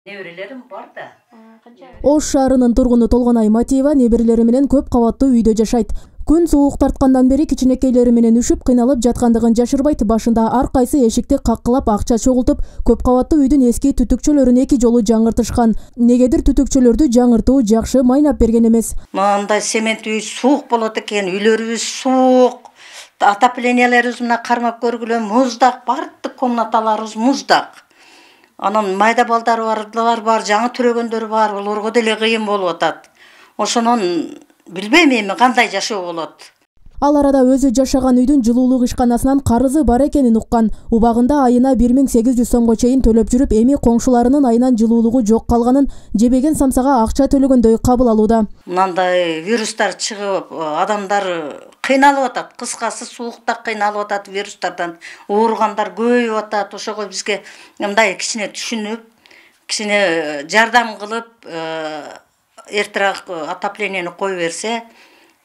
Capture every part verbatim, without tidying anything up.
Неберелерим бар да. Ош шаарынын тургуну Толгонай Матиева неберелери менен көп кабаттуу үйдө жашайт. Күн суук тарткандан бери кичинекейлери менен үшүп кыйналып жаткандыгын жашырбайт. Башында ар кайсы эшикти каккылап акча чогултуп, көп кабаттуу үйдүн эски түтүкчөлөрүн эки жолу жаңыртышкан. Негедир түтүкчөлөрдү жаңыртуу жакшы майнап берген эмес. Мындай цемент үй суук болот экен, үйлөрүбүз суук. Отопленияларыбыз мына кармап көргүлө муздак, бардык комнаталарыбыз муздак. Анан майда балдар бар, бар, жаңы төрөгөндөр бар, олорго деле кыйын болуп атат. Ошонун билбейм эми кандай жашоо болот. Ал арада өзү жашаган үйдүн жылуулук ишканасынан карызы бар экенин уккан. Убагында айына бир миң сегиз жүз сомго чейин төлөп жүрүп, эми коңшуларынын айынан жылуулугу жок калганын жебеген самсага акча төлөгөндөй кабыл алууда. Мындай вирустар чыгып, адамдар кыйналып атат. Кыскасы суукта кыйналып атат, вирустардан ооругандар көбөйүп атат. Ошого бизге мындай кичине түшүнүп, кичине жардам кылып, эртерээк отоплениени кое берсе,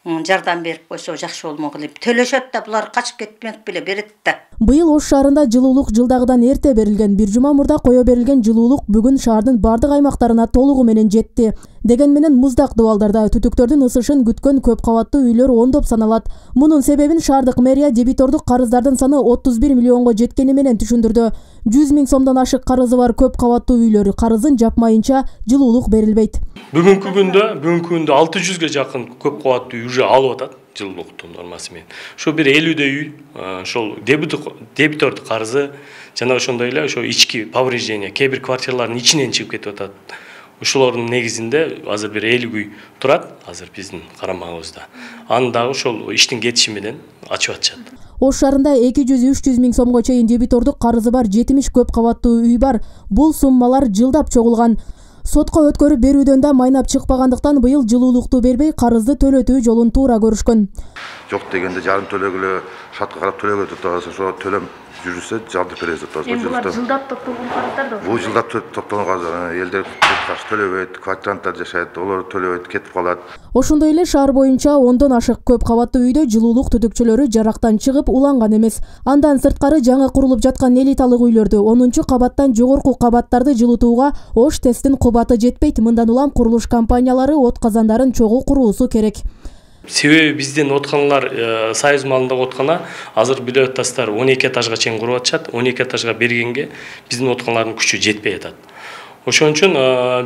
жардам берип койсо жакшы болмок эле. Төлөшөт да, булар качып кетмек беле берет да. Быйыл Ош шаарында жылуулук жылдагыдан эрте берилген. Бир жума мурда кое берилген жылуулук бүгүн шаардын бардык аймактарына толугу менен жетти. Деген менен муздак дубалдарда түтүктөрдүн ысышын күткөн көп кабаттуу үйлөр ондоп саналат. Мунун себебин шаардык мэрия дебитордук карыздардын саны отуз бир миллионго жеткени менен түшүндүрдү. жүз миң сомдон ашык карызы бар көп кабаттуу үйлөр карызын жапмайынча жылуулук берилбейт. Бүгүнкү күндө, бүгүнкү күндө алты жүзгө жакын көп кабаттуу үй уже алып атат жылуулуктун нормасы менен. Ошо бир элүүдөй үй, ошол дебитордук карызы жана ошондой эле ошо ички повреждение, кээ бир квартиралардын ичинен чыгып кетип атат. Ошолордун негизинде азыр бир элүү үй турат, азыр биздин карамагыбызда. Аны дагы ошол иштин кетиши менен ачып атышат. Ош шаарында эки жүз үч жүз миң сомго чейин дебитордук карызы бар жетимиш көп кабаттуу үй бар. Бул суммалар жылдап чогулган. Сотко өткөрүп берүүдөн да майнап чыкпагандыктан быйыл жылуулукту бербей карызды төлөтүү жолун туура көрүшкөн. Жок дегенде жарым төлөгүлө, шартка карап төлөгө турат, ошо төлөм жүрүшсө жардап беребиз деп турат. Булар жылдап топтолгон карыздар да. Бул жылдап топтолгон карыздар, элдер каршы төлөбөйт, квартиранттар жашайт, олар төлөбөйт, кетип калат. Ошондой эле шаар боюнча ондон ашык көп кабаттуу үйдө жылуулук түтүкчөлөрү жарактан чыгып уланган эмес. Андан сырткары жаңы курулуп жаткан элиталык үйлөрдү онунчу кабаттан жогорку кабаттарды жылытууга Ош ТЭСтин кубаты жетпейт. Мындан улам курулуш компаниялары от казандарын чогуу куруусу керек. Себеби биздин отканалар Союз малындагы откана азыр билип атасыздар он эки этажга чейин куруп атышат. он эки этажга бергенге биздин отканалардын күчү жетпей атат. Ошон үчүн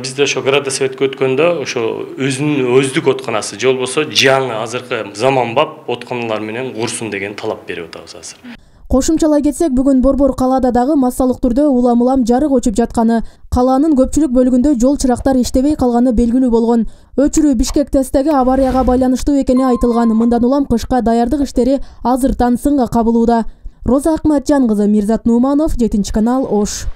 бизде ошо градосоветке өткөндө ошо өзүнүн өздүк отканасы же болбосо жаңы азыркы заманбап отканалар менен курсун деген талап берип атабыз азыр. Кошумчалай кетсек, бүгүн Борбор калаада дагы массалык түрдө улам-улам жарык өчүп жатканы, калаанын көпчүлүк бөлүгүндө жол чырактар иштебей калганы белгилүү болгон. Өчүрүү Бишкек ТЭСтеги аварияга байланыштуу экени айтылган. Мындан улам кышка даярдык иштери азыртан сынга кабылууда. Роза Акматжан кызы, Мирзат Нуманов, жетинчи канал, Ош.